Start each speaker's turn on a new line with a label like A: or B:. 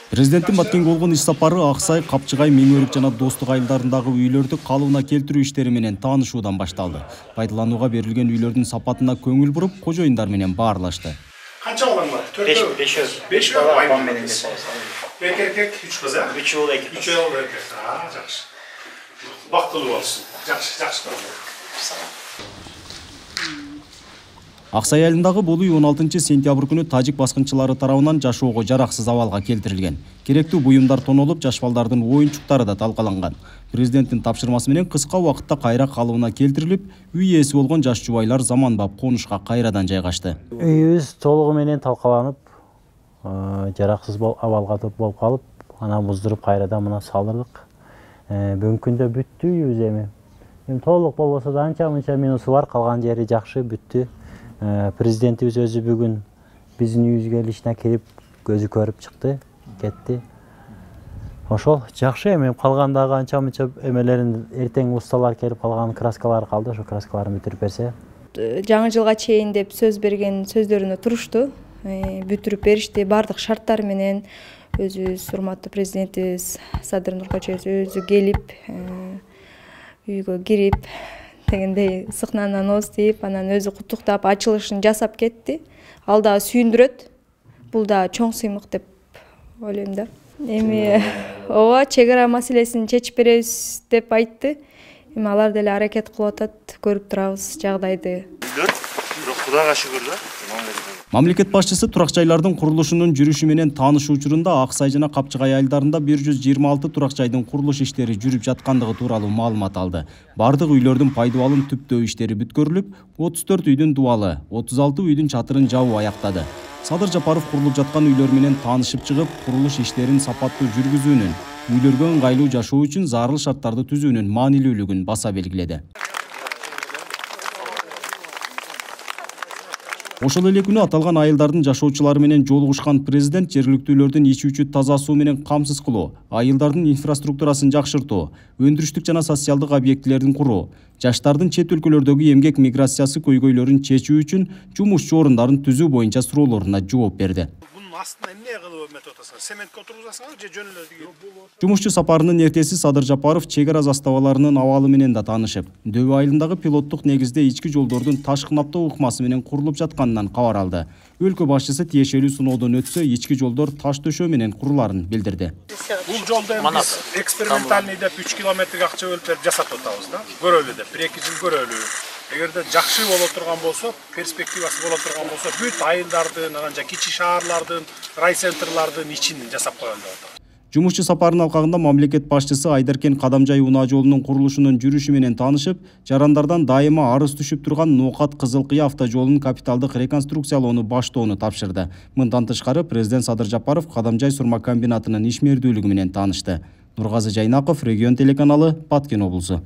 A: Президенттин Баткенге болгон иш сапары Аксай, Капчыгай, Миңөрүк жана Достук айылдарындагы үйлөрдү калыбына келтирүү иштери менен таанышуудан башталды. Пайдаланууга берилген үйлөрдүн сапатына көңүл буруп, кожоюндар менен баарлашты.
B: Канча балаң бар? 5 бала менен. Эркек 3 кыз, а? 3 уул эркек. 3 уул эркек. Жакшы. Бактылуу болсун. Жакшы.
A: Аксай айылындагы бул үй 16 сентябрь күнү тажик баскынчылары тарабынан жашоого жараксыз абалга келтирилген. Керектүү буюмдар тонолуп, жаш балдардын оюнчуктары да талкаланган. Президенттин тапшырмасы менен кыска убакытта кайра калыбына келтирилип, үй ээси болгон жаш жубайлар заманбап конушка кайрадан жайгашты.
C: Үйүбүз толугу менен талкаланып, жараксыз абалга болуп калып, анан буздуруп кайрадан мына салдырдык. Бүгүнкү күндө бүттү үйүбүз эми толук болбосо да анча-мынча минусу бар, калган жери жакшы бүттү. Президентибиз өзү бүгүн биздин үйүбүзгө ишине кирип, көзү көрүп чыкты, кетти. Ошол жакшы эми калгандагы анча-мынча эмелерин эртең усталар келип калган краскалар калды, ошо краскаларын бүтүрүп берсе.
D: Жаңы жылга чейин деп сөз берген сөздөрүнө турушту. Бүтүрүп беришти, бардык шарттар менен өзүбүз урматтуу президентибиз Садыр Нуркачиев өзү келип, үйгө кирип, дегендей сыкнанан ооз тийип, анан өзү куттуктап, ачылышын жасап кетти. Ал да сүйүндүрөт. Бул да чоң сыймык деп ойлойм да. Эми ооба, чек ара маселесин чечип беребиз деп айтты. Эми алар деле аракет кылып атат, көрүп турабыз жагдайды.
B: Кудайга шүгүр да.
A: Мамлекет башчысы турак жайлардын курулушунун жүрүшү менен таанышуу учурунда Аксай жана Капчыгай айылдарында 126 турак жайдын курулуш иштери жүрүп жаткандыгы тууралуу маалымат алды. Бардык үйлөрдүн пайдубалын түптөө иштери бүткөрүлүп, 34 үйдүн дубалы, 36 үйдүн чатырын жабуу аяктады. Садыр Жапаров курулуп жаткан үйлөр менен таанышып чыгып, курулуш иштерин сапаттуу жүргүзүүнүн, үйлөргө ыңгайлуу жашоо үчүн зарыл шарттарды түзүүнүн маанилүүлүгүн баса белгиледи. Ошол эле күнү аталган айылдардын жашоочулары менен жолугушкан президент жергиликтүүлөрдүн ичүүчү таза суу менен камсыз кылуу, айылдардын инфраструктурасын жакшыртуу, өндүрүштүк жана социалдык объектилердин куруу, жаштардын чет өлкөлөрдөгү эмгек миграциясы көйгөйлөрүн чечүү үчүн жумушчу орундарын түзүү боюнча суроолоруна жооп берди.
B: Эмне кылып эметип атасыңар? Сементке отургузасыңар же жөн эле?
A: Жумушчу сапарынын эртеси Садыр Жапаров чек ара заставаларынын абалы менен да таанышып, Дөбө айылындагы пилоттук негизде ички жолдордун таш кынаптоо ыкмасы менен курулуп жатканынан кабар алды. Өлкө башчысы тиешелүү сыноодон өтсө, ички жолдор таш төшөө менен куруларын билдирди.
B: Бул жолду биз экспериментальный деп 3 километрге акча бөлүп берип жасап атабыз да. Көрөлү деп 1-2 жыл көрөлү. Эгерде жакшы боло турган болсо, перспективасы боло турган болсо, бүт айылдардын, анан кичи шаарлардын, райцентрлардын ичин жасап коелу деп атат.
A: Жумушчу сапарынын алкагында мамлекет башчысы Айдаркен Кадамжай унаа жолунун курулушунун жүрүшү менен таанышып, жарандардан дайыма арыз түшүп турган Ноокат Кызылкыя автожолунун капиталдык реконструкциялоону баштоону тапшырды. Мындан тышкары президент Садыр Жапаров Кадамжай сурма комбинатынын ишмердүүлүгү менен таанышты. Нургазы Жайнаков, Регион телеканалы, Баткен облусу.